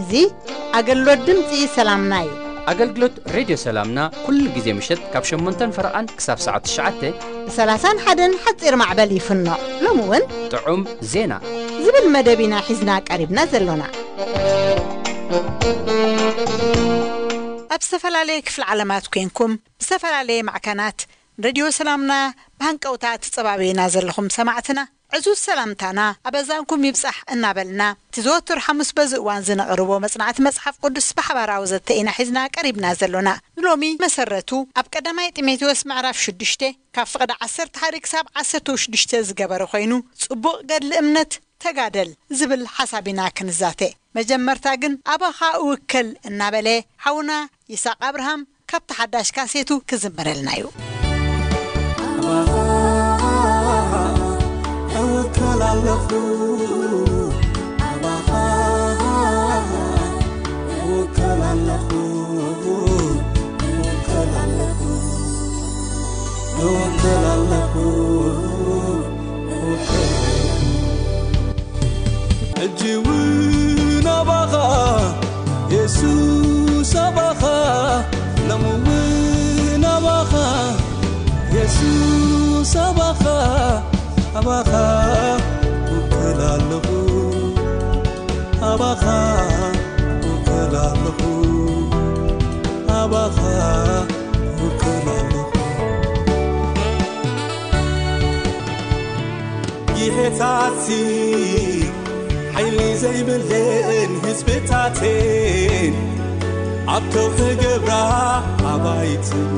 እዚ ኣገልግሎት ድምፂ ሰላምና እዩ። ኣገልግሎት ሬድዮ ሰላምና ኩሉ ግዜ ምሸት ካብ ሸሞንተን ፈረቓን ክሳብ ሰዓት ትሽዓተ ብ ሰላሳን ሓደን ሓፂር ማዕበል ይፍኖ። ሎሚ እውን ጥዑም ዜና ዝብል መደብ ኢና ሒዝና ቀሪብና ዘሎና። ኣብ ዝተፈላለየ ክፍሊ ዓለማት ኮንኩም ብዝተፈላለየ ማዕከናት ሬድዮ ሰላምና ብሃንቀውታ ትጸባበዩና ዘለኹም ሰማዕትና ዕዙዝ ሰላምታና ኣበዛንኩም ይብጻሕ እናበልና፣ እቲ ዘወትር ሓሙስ በዚ እዋን ዝነቕርቦ መጽናዕቲ መጽሓፍ ቅዱስ ብሓባራዊ ዘተ ኢና ሒዝና ቀሪብና ዘሎና። ንሎሚ መሰረቱ ኣብ ቀዳማይ ጢሞቴዎስ ምዕራፍ ሽዱሽተ ካብ ፍቕዲ ዓሰርተ ሓደ ክሳብ ዓሰርተ ሽዱሽተ ዝገበረ ኮይኑ፣ ጽቡቕ ገድሊ እምነት ተጋደል ዝብል ሓሳብ ኢና ክንዛተ። መጀመርታ ግን ኣባኻ እውከል እናበለ ሓውና ይስሐቅ ኣብርሃም ካብቲ ሓዳሽ ካሴቱ ክዝምረልና እዩ። ኣባኻ እውከል ኣለኹ፣ ኣባኻ እውከል ኣለኹ፣ እውከል ኣለኹ፣ እውከል ኣለኹ፣ እውከል ኣለኹ። ሕጂ እውን ኣባኻ የሱስ፣ ኣባኻ ሎሚ እውን ኣባኻ የሱስ፣ ኣባኻ፣ ኣባኻ እውከል ኣለኹ፣ ኣባኻ እውከል ኣለኹ፣ ኣባኻ እውከል ኣለኹ። ይሄታትሲ ሓይሊ ዘይብለን ህዝብታትን ኣብ ከውሒ ገብራ ኣባይትን።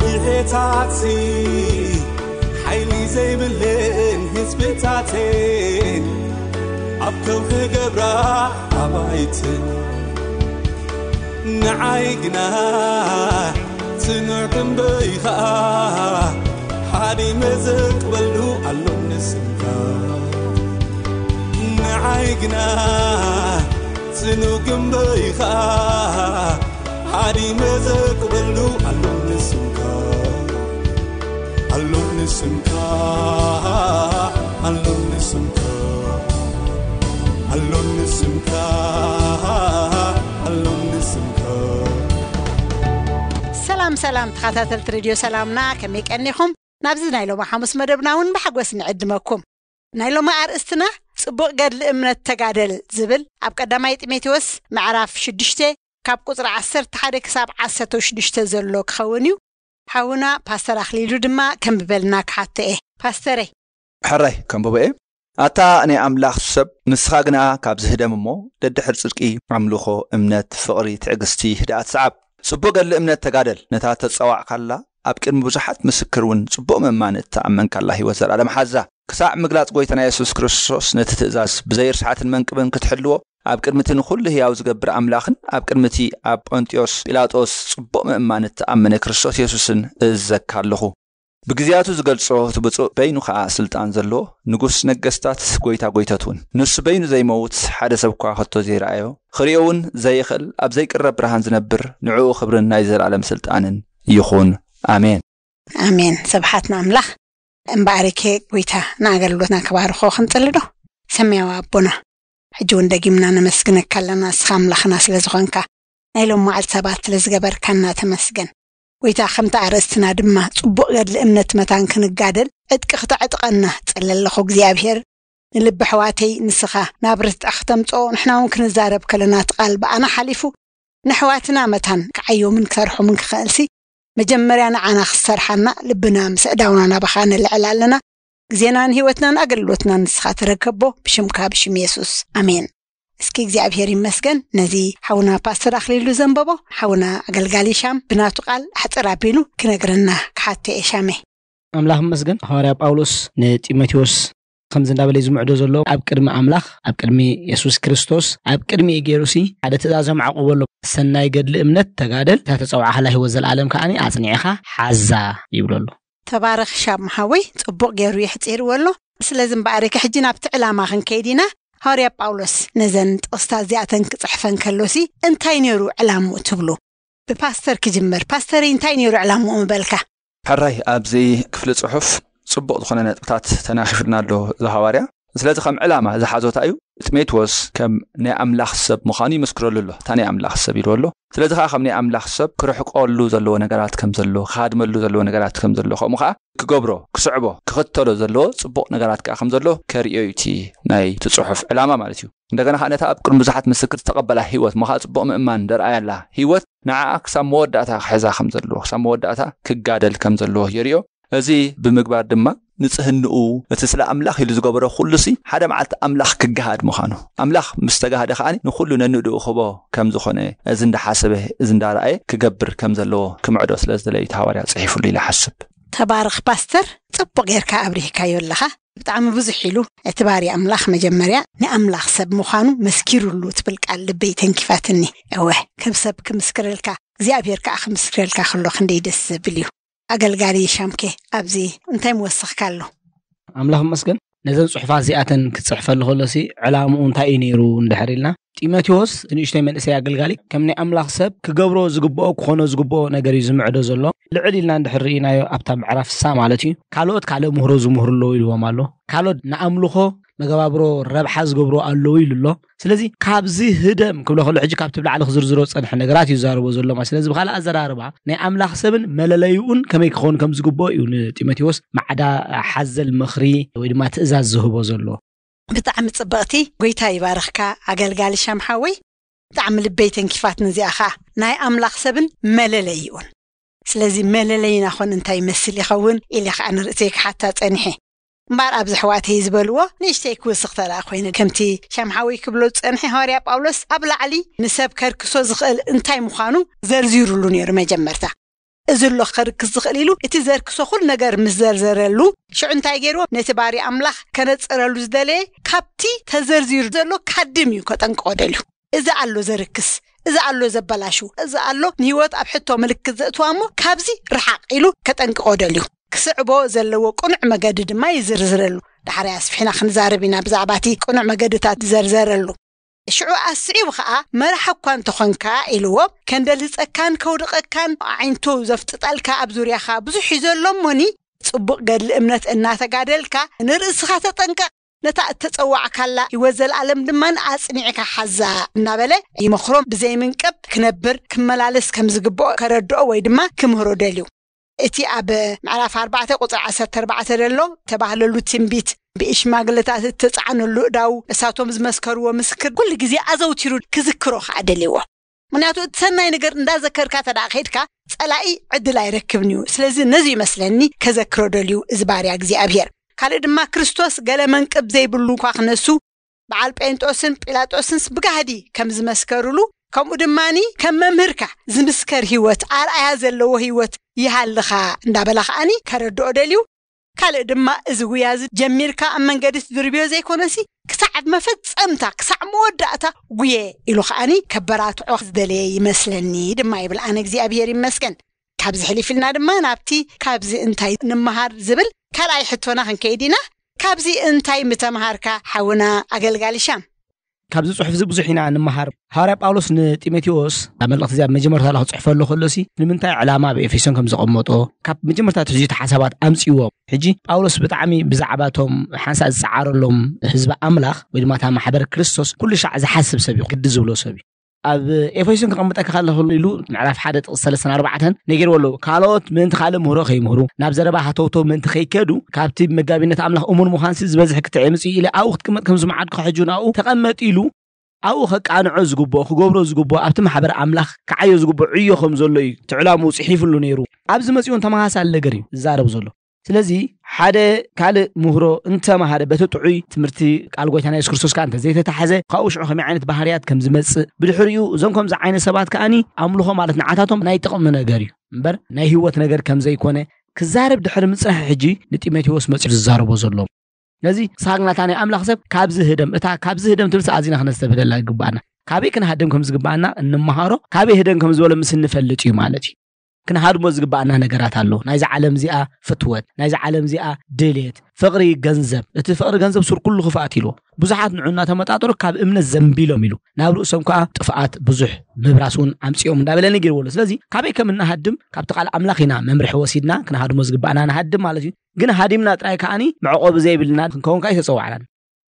ይሄታትሲ ሓይሊ ዘይብለን ህዝብታትን ኣብ ከውሒ ገብራ ኣባይትን። ንዓይ ግና ጽኑዕ ግንበይ ኸኣ ሓዲመ ዘቅበሉ ኣሎ ንስምካ። ንዓይ ግና ጽኑዕ ግንበይ ኸኣ ሓዲመ ዘቅበሉ ኣሎ ንስምካ። ኣሎኒ ስምካ፣ ኣሎኒ ስምካ፣ ኣሎኒ ስምካ፣ ኣሎኒ ስምካ። ሰላም ሰላም ተኸታተልቲ ሬድዮ ሰላምና፣ ከመይ ቀኒኹም? ናብዚ ናይ ሎሚ ሓሙስ መደብና እውን ብሓጎስ ንዕድመኩም። ናይ ሎሚ ኣርእስትና ጽቡቕ ገድሊ እምነት ተጋደል ዝብል ኣብ ቀዳማይ ጢሞቴዎስ ምዕራፍ ሽዱሽተ ካብ ቁጽሪ ዓሰርተ ሓደ ክሳብ ዓሰርተ ሽዱሽተ ዘሎ ክኸውን እዩ። ሓውና ፓስተር ኣኽሊሉ ድማ ከንብበልና ክሓቶ እየ። ፓስተረይ። ሕራይ ከንብቦ እየ። ኣታ ናይ ኣምላኽ ሰብ፣ ንስኻ ግና ካብ ዝህደም እሞ ደድሕር ጽድቂ፣ ኣምልኾ፣ እምነት፣ ፍቕሪ፣ ትዕግስቲ፣ ህድኣት ሰዓብ። ጽቡቕ ገድሊ እምነት ተጋደል። ነታ ተጸዋዕካላ ኣብ ቅድሚ ብዙሓት ምስክር እውን ጽቡቕ ምእማን እተኣመንካላ ህይወት ዘለኣለም ሓዛ። ክሳዕ ምግላጽ ጐይታና የሱስ ክርስቶስ ነቲ ትእዛዝ ብዘይ ርስሓትን መንቅብን ክትሕልዎ ኣብ ቅድሚ እቲ ንኹሉ ህያው ዝገብር ኣምላኽን ኣብ ቅድሚ እቲ ኣብ ጶንጥዮስ ጲላጦስ ጽቡቕ ምእማን እተኣመነ ክርስቶስ የሱስን እእዝዘካ ኣለኹ። ብግዜያቱ ዝገልጾ እቲ ብጹእ በይኑ ኸኣ ስልጣን ዘለዎ ንጉስ ነገስታት ጐይታ ጐይቶት እውን። ንሱ በይኑ ዘይመውት ሓደ ሰብ እኳ ከቶ ዘይረኣዮ ክርእዮ እውን ዘይኽእል ኣብ ዘይቅረብ ብርሃን ዝነብር ንዕኡ ክብርን ናይ ዘለኣለም ስልጣንን ይኹን። ኣሜን። ኣሜን። ስብሓት ንኣምላኽ። እምበኣርከ ጐይታ ንኣገልግሎትና ክባርኾ ክንጽሊ ዶ? ሰማያዊ ኣቦና፣ ሕጂ እውን ደጊምና ነመስግነካ ኣለና፣ ንስኻ ኣምላኽና ስለ ዝኾንካ፣ ናይ ሎም መዓልቲ ሰባት ስለ ዝገበርካና ተመስገን። ጐይታ፣ ከምቲ ኣርእስትና ድማ ጽቡቕ ገድሊ እምነት መታን ክንጋደል ዕጥቂ ክተዕጥቀና ጸለ ኣለኹ እግዚኣብሔር። ንልቢ ኣሕዋተይ ንስኻ ናብ ርትዕ ክተምጽኦ፣ ንሕና እውን ክንዛረብ ከለና እቲ ቃል ብኣና ሓሊፉ ንኣሕዋትና መታን ክዓዮምን ክሰርሖምን ክኽእልሲ፣ መጀመርያ ንዓና ክትሰርሓና ልብና ምስ ኣእዳውና ናባኻ ነልዕል ኣለና። ግዜናን ህይወትናን ኣገልግሎትናን ንስኻ ተረከቦ፣ ብሽምካ፣ ብሽም የሱስ። ኣሜን። እስኪ እግዚኣብሔር ይመስገን፣ ነዚ ሓውና ፓስተር ኣኽሊሉ ዘንበቦ፣ ሓውና ኣገልጋሊ ሻም ብናቱ ቃል ኣሕጽር ኣቢሉ ክነግረና ክሓቶ እየ። ሻመይ። ኣምላኽ ይመስገን፣ ሃዋርያ ጳውሎስ ንጢሞቴዎስ ከምዚ እንዳበለ እዩ ዝምዕዶ ዘሎ፣ ኣብ ቅድሚ ኣምላኽ፣ ኣብ ቅድሚ የሱስ ክርስቶስ፣ ኣብ ቅድሚ ገይሩሲ ሓደ ትእዛዝ የማዕቁቦ ኣሎ። ሰናይ ገድሊ እምነት ተጋደል፣ እታ ተጸውዓኻላ ህይወት ዘለኣለም ከኣኒ ኣጽኒዕኻ ሓዛ ይብሎ ኣሎ። ተባረኽ ሻም ሓወይ፣ ጽቡቕ ገይሩ የሕጺርዎ ኣሎ። ስለዚ እምበኣር ከ ሕጂ ናብቲ ዕላማ ክንከይድ ኢና። ሃዋርያ ጳውሎስ ነዘን ጥቕስታት እዚኣተን ክጽሕፈን ከሎሲ እንታይ ነይሩ ዕላምኡ ትብሉ? ብፓስተር ክጅምር። ፓስተረይ እንታይ ነይሩ ዕላምኡ ምበልካ? ሕራይ፣ ኣብዚ ክፍሊ ጽሑፍ ጽቡቕ ዝኾነ ነጥብታት ተናኺፍልና ኣሎ እዚ ሃዋርያ። ስለዚ ከም ዕላማ ዝሓዞታ እዩ። ጢሞቴዎስ ከም ናይ ኣምላኽ ሰብ ምዃኑ ይምስክረሉ ኣሎ። እታ ናይ ኣምላኽ ሰብ ኢሉ ኣሎ። ስለዚ ከዓ ከም ናይ ኣምላኽ ሰብ ክርሕቀሉ ዘለዎ ነገራት ከም ዘሎ፣ ክሃድመሉ ዘለዎ ነገራት ከም ዘሎ፣ ከምኡ ከዓ ክገብሮ፣ ክስዕቦ፣ ክኽተሎ ዘለዎ ጽቡቕ ነገራት ከዓ ከም ዘሎ ከርእዮ እዩ እቲ ናይ እቲ ጽሑፍ ዕላማ ማለት እዩ። እንደገና ከዓ ነታ ኣብ ቅድሚ ብዙሓት ምስክር ዝተቐበላ ህይወት፣ እሞ ከዓ ጽቡቕ ምእማን ደርኣያላ ህይወት ንዓኣ ክሳብ መወዳእታ ክሕዛ ከም ዘለዎ፣ ክሳብ መወዳእታ ክጋደል ከም ዘለዎ የርእዮ። እዚ ብምግባር ድማ ንጽህንኡ፣ እቲ ስለ ኣምላኽ ኢሉ ዝገበሮ ኩሉሲ ሓደ መዓልቲ ኣምላኽ ክገሃድ ምዃኑ፣ ኣምላኽ ምስ ተጋህደ ከዓኒ ንኹሉ ነንእድኡ ክቦ ከም ዝኾነ፣ እዚ እንዳሓሰበ፣ እዚ እንዳረኣየ ክገብር ከም ዘለዎ ክምዕዶ ስለ ዝደለዩ እቲ ሃዋርያ ጽሒፉሉ ኢለ ሓስብ። ተባረኽ ፓስተር፣ ጽቡቕ ጌርካ ኣብሪህካዮ ኣለኻ። ብጣዕሚ ብዙሕ ኢሉ እቲ ባርያ ኣምላኽ መጀመርያ ንኣምላኽ ሰብ ምዃኑ መስኪሩሉ ትብል ቃል ልበይ ተንኪፋትኒ። እወ፣ ከም ሰብ ክምስክረልካ እግዚኣብሔር ከዓ ክምስክረልካ ከሎ ክንደይ ደስ ዘብል እዩ። ኣገልጋሊ ሻምኬ፣ ኣብዚ እንታይ ምወሰኽካ ኣሎ? ኣምላኽ ይመስገን። ነዘን ጽሑፋት እዚኣተን ክትጽሕፈሉ ከሎሲ ዕላምኡ እንታይ እዩ ነይሩ እንድሕር ኢልና፣ ጢሞቴዎስ ንእሽተይ መንእሰይ ኣገልጋሊ ከም ናይ ኣምላኽ ሰብ ክገብሮ ዝግብኦ ክኾኖ ዝግብኦ ነገር እዩ ዝምዕዶ ዘሎ። ልዕል ኢልና እንድሕር ርኢናዮ ኣብታ ምዕራፍ ሳ ማለት እዩ፣ ካልኦት ካልእ ምህሮ ዝምህሩ ኣለዉ ኢልዎም ኣሎ። ካልኦት ንኣምልኾ መገባብሮ ረብሓ ዝገብሩ ኣለዉ ኢሉ ኣሎ። ስለዚ ካብዚ ህደም ክብሎ ከሎ ሕጂ ካብቲ ብላዕሊ ክዝርዝሮ ዝጸንሐ ነገራት እዩ ዝዛረቦ ዘሎ ማለት። ስለዚ ብኻልእ ኣዘራርባ ናይ ኣምላኽ ሰብን መለለይኡን ከመይ ክኸውን ከም ዝግብኦ እዩ ንጢሞቴዎስ ማዕዳ ሓዘል ምኽሪ ወይ ድማ ትእዛዝ ዝህቦ ዘሎ። ብጣዕሚ ጽብቕቲ፣ ጎይታ ይባርኽካ ኣገልጋሊ ሻም ሓወይ። ብጣዕሚ ልበይ ተንኪፋት፣ ነዚኣ ኸኣ ናይ ኣምላኽ ሰብን መለለይኡን። ስለዚ መለለይና ኾን እንታይ ይመስል ይኸውን ኢለ ኸኣ ንርእሰይ ክሓታ ጸኒሐ። እምበኣር ኣብዚ ኣሕዋተይ ዝበልዎ ንእሽተይ ክውስኽ ተደኣ ኮይነ፣ ከምቲ ሻም ሓወይ ክብሎ ዝጸንሐ፣ ሃዋርያ ጳውሎስ ኣብ ላዕሊ ንሰብ ከርክሶ ዝኽእል እንታይ ምዃኑ ዘርዚሩሉ ነይሩ መጀመርታ። እዚ ኣሎ ከርክስ ዝኽእል ኢሉ እቲ ዘርክሶ ኩሉ ነገር ምስ ዘርዘረሉ፣ ሽዑ እንታይ ገይርዎ? ነቲ ባርያ ኣምላኽ ከነጽረሉ ዝደለየ ካብቲ ተዘርዚሩ ዘሎ ካድም እዩ ከጠንቅቖ ደልዩ። እዚ ኣሎ ዘርክስ፣ እዚ ኣሎ ዘበላሹ፣ እዚ ኣሎ ንህይወት ኣብ ሕቶ ምልክት ዘእትዋ እሞ ካብዚ ርሓቕ ኢሉ ከጠንቅቖ ደልዩ። ክስዕቦ ዘለዎ ቅኑዕ መገዲ ድማ ይዝርዝረሉ። ዳሕራይ ኣስፊሕና ክንዛረብ ኢና ብዛዕባ እቲ ቅኑዕ መገድታት ዝዘርዘረሉ። ሽዑ ኣስዒቡ ኸኣ፣ መራሕ እኳ እንተኾንካ ኢልዎ፣ ከንደልህጸካን ከውድቐካን ኣዒንቱ ዘፍጥጠልካ ኣብ ዙርያኻ ብዙሕ እዩ ዘሎ እሞኒ፣ ጽቡቕ ገድሊ እምነት እናተጋደልካ ንርእስኻ ተጠንቀቕ፣ ነታ እተጸዋዕካላ ህይወት ዘለኣለም ድማ ኣጽኒዕካ ሓዛ እናበለ ይመኽሮም። ብዘይምንቀብ ክነብር ክመላለስ ከም ዝግብኦ ከረድኦ ወይ ድማ ክምህሮ ደልዩ። እቲ ኣብ ምዕራፍ ኣርባዕተ ቁጽሪ ዓሰርተ ኣርባዕተ ዘሎ ተባህለሉ ትንቢት ብሽማግለታት እተጻዕነሉ እዳው እሳቶም ዝመስከርዎ ምስክር ኩሉ ግዜ ኣዘውቲሩ ክዝክሮ ከኣ ደልዎ። ምክንያቱ እቲ ሰናይ ነገር እንዳዘከርካ ተደኣ ከይድካ ጸላኢ ዕድል ኣይረክብን እዩ። ስለዚ ነዚ ይመስለኒ ከዘክሮ ደልዩ እዚ ባርያ እግዚኣብሔር። ካልእ ድማ ክርስቶስ ገለ መንቅብ ዘይብሉ እኳ ክነሱ በዓል ጴንጦስን ጲላጦስንስ ብጋህዲ ከም ዝመስከሩሉ፣ ከምኡ ድማኒ ከም መምህርካ ዝምስከር ህይወት፣ ኣርኣያ ዘለዎ ህይወት ይሃልኻ እንዳበላ ከኣኒ ከረድኦ ደልዩ። ካልእ ድማ እዚ ጉያ እዚ ጀሚርካ ኣብ መንገዲ ትድርብዮ ዘይኮነሲ፣ ክሳዕ መፈጸምታ፣ ክሳዕ መወዳእታ ጉየ ኢሉ ከኣኒ ከበራትዖ ዝደለየ ይመስለኒ ድማ ይብል። ኣነ እግዚኣብሔር ይመስገን። ካብዚ ሕሊፍ ኢልና ድማ ናብቲ ካብዚ እንታይ ንምሃር ዝብል ካልኣይ ሕቶና ክንከይድ ኢና። ካብዚ እንታይ ምተምሃርካ ሓውና ኣገልጋሊ ሻም? ካብዚ ጽሑፍ እዚ ብዙሕ ኢና ንምሃር። ሃዋርያ ጳውሎስ ንጢሞቴዎስ ኣብ መልእኽቲ እዚኣ መጀመርታ ላ ክጽሕፈሉ ከሎሲ ንምንታይ ዕላማ ኣብ ኤፌሶን ከም ዘቐመጦ ካብ መጀመርታ ትሕዚ እቲ ሓሳባት ኣምጽእዎም። ሕጂ ጳውሎስ ብጣዕሚ ብዛዕባ እቶም ሓንሳእ ዝጸዓረሎም ህዝቢ ኣምላኽ ወይ ድማ እታ ማሕበር ክርስቶስ ኩሉ ሻዕ ዝሓስብ ሰብ እዩ፣ ግዲ ዝብሎ ሰብ እዩ። ኣብ ኤፌሶን ክቐምጠካ ከለኹ ኢሉ ምዕራፍ ሓደ ጥቕሲ ሰለስተን ኣርባዕተን ነጊርዎ ኣለዉ። ካልኦት ምእንቲ ካልእ ምህሮ ከይምህሩ፣ ናብ ዘረባ ሃተውተው ምእንቲ ከይከዱ፣ ካብቲ መጋቢነት ኣምላኽ እሙን ምዃንሲ ዝበዝሕ ክትዕ የምጽእ ኢለ ኣብኡ ክትቅመጥ ከም ዝመዓድኩ ሕጂ ናብኡ ተቐመጥ ኢሉ ኣብኡ ከቃንዖ ዝግብኦ፣ ክገብሮ ዝግብኦ፣ ኣብቲ ማሕበር ኣምላኽ ክዓዮ ዝግብኦ ዕዮ ከም ዘሎ እዩ እቲ ዕላምኡ ጽሒፉሉ ነይሩ። ኣብዚ መጺኡ እውን ተመሳሳሊ ነገር እዩ ዝዛረብ ዘሎ። ስለዚ ሓደ ካልእ ምህሮ እንተመሃረ በቲ ጥዑይ ትምህርቲ ቃል ጎይታና የሱስ ክርስቶስ ከኣ እንተዘይተታሕዘ፣ ካብኡ ሽዑ ከመይ ዓይነት ባህርያት ከም ዝመጽእ፣ ብድሕሪኡ እዞም ከምዚ ዓይነት ሰባት ከኣኒ ኣምልኾ ማለት ንዓታቶም ናይ ጥቕሚ ነገር እዩ እምበር ናይ ህይወት ነገር ከም ዘይኮነ ክዛረብ ድሕሪ ምጽናሕ ሕጂ ንጢሞቴዎስ መጺኡ ዝዛረቦ ዘሎ። ነዚ ሳግናታ ናይ ኣምላኽ ሰብ ካብዚ ህደም፣ እታ ካብዚ ህደም ትብል ኣዚና ክነስተብህለላ ይግባኣና። ካበይ ክንሃድም ከም ዝግባኣና እንመሃሮ፣ ካበይ ህደም ከም ዝበሎ ምስ እንፈልጥ እዩ ማለት እዩ። ክንሃድሞ ዝግባኣና ነገራት ኣሎ። ናይዚ ዓለም እዚኣ ፍትወት፣ ናይዚ ዓለም እዚኣ ድሌት፣ ፍቕሪ ገንዘብ። እቲ ፍቕሪ ገንዘብ ሱር ኩሉ ክፍኣት ኢልዎ። ብዙሓት ንዑ እናተመጣጠሩ ካብ እምነት ዘንቢሎም ኢሉ ናብ ርእሶም ከዓ ጥፍኣት ብዙሕ ምብራስ እውን ኣምፅኦም እንዳበለ ነጊርዎ ኣሎ። ስለዚ ካበይ ከም እንሃድም ካብቲ ቃል ኣምላኽ ኢና መምርሒ ወሲድና ክንሃድሞ ዝግባኣና ንሃድም ማለት እዩ። ግን ሃዲምና ጥራይ ከዓኒ መዕቆቢ ዘይብልና ክንከውን ከዓ ይተፀዋዕናን።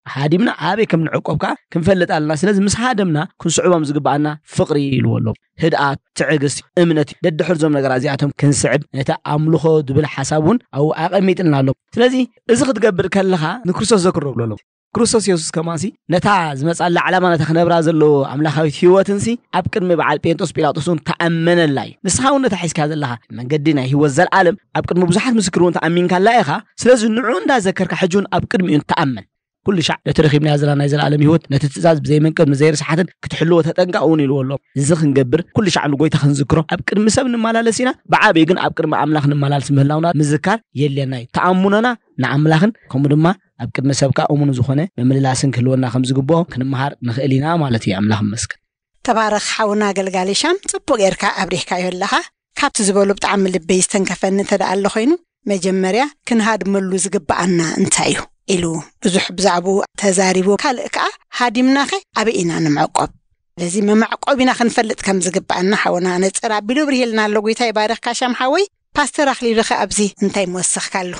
ሃዲምና ኣበይ ከም ንዕቆብ ከዓ ክንፈልጥ ኣለና። ስለዚ ምስ ሃደምና ክንስዕቦም ዝግባኣና ፍቕሪ ኢልዎ ኣሎ። ህድኣት፣ ትዕግስቲ፣ እምነት፣ ደድሕር ዞም ነገራት እዚኣቶም ክንስዕብ ነቲ ኣምልኾ ዝብል ሓሳብ እውን ኣብኡ ኣቐሚጥልና ኣሎ። ስለዚ እዚ ክትገብር ከለኻ ንክርስቶስ ዘክሮ ብሎ ኣሎ። ክርስቶስ የሱስ ከማንሲ ነታ ዝመጻላ ዓላማ ነታ ክነብራ ዘለዎ ኣምላኻዊት ህይወትንሲ ኣብ ቅድሚ በዓል ጴንጦስ ጲላጦስ እውን ተኣመነላ እዩ። ንስኻ እውን ነታ ሒዝካ ዘለኻ መንገዲ ናይ ህይወት ዘለዓለም ኣብ ቅድሚ ብዙሓት ምስክር እውን ተኣሚንካላ ኢኻ። ስለዚ ንዑ እንዳዘከርካ ሕጂ እውን ኣብ ቅድሚኡ ተኣመን። ኩሉ ሻዕ ነቲ ረኺብናዮ ዘለና ናይ ዘለዓለም ህይወት ነቲ ትእዛዝ ብዘይመንቀብ ንዘይርስሓትን ክትሕልዎ ተጠንቀቕ እውን ኢልዎ ኣሎ። እዚ ክንገብር ኩሉ ሻዕ ንጎይታ ክንዝክሮ ኣብ ቅድሚ ሰብ ንመላለስ ኢና። ብዓብዩ ግን ኣብ ቅድሚ ኣምላኽ ንመላለስ ምህላውና ምዝካር የድልየና እዩ። ተኣምኖና ንኣምላኽን ከምኡ ድማ ኣብ ቅድሚ ሰብ ከኣ እሙን ዝኾነ ምምልላስን ክህልወና ከም ዝግብኦ ክንመሃር ንኽእል ኢና ማለት እዩ። ኣምላኽ ይመስገን። ተባረኽ ሓውና ኣገልጋሊ ሻም፣ ጽቡቕ ጌርካ ኣብሪህካዮ ኣለኻ። ካብቲ ዝበሉ ብጣዕሚ ልበይ ዝተንከፈኒ እንተ ደኣ ኣሎ ኮይኑ፣ መጀመርያ ክንሃድመሉ ዝግብኣና እንታይ እዩ ኢሉ ብዙሕ ብዛዕባኡ ተዛሪቡ፣ ካልእ ከኣ ሃዲምናኸ ኣበይ ኢና ንምዕቆብ? ስለዚ መመዕቆቢና ክንፈልጥ ከም ዝግብኣና ሓውና ነጽር ኣቢሉ ኣብሪህልና ኣሎ። ጎይታ ይባርኽካ ሻም ሓወይ። ፓስተር ኣኽሊሉ ኸ ኣብዚ እንታይ ምወሰኽካሉ?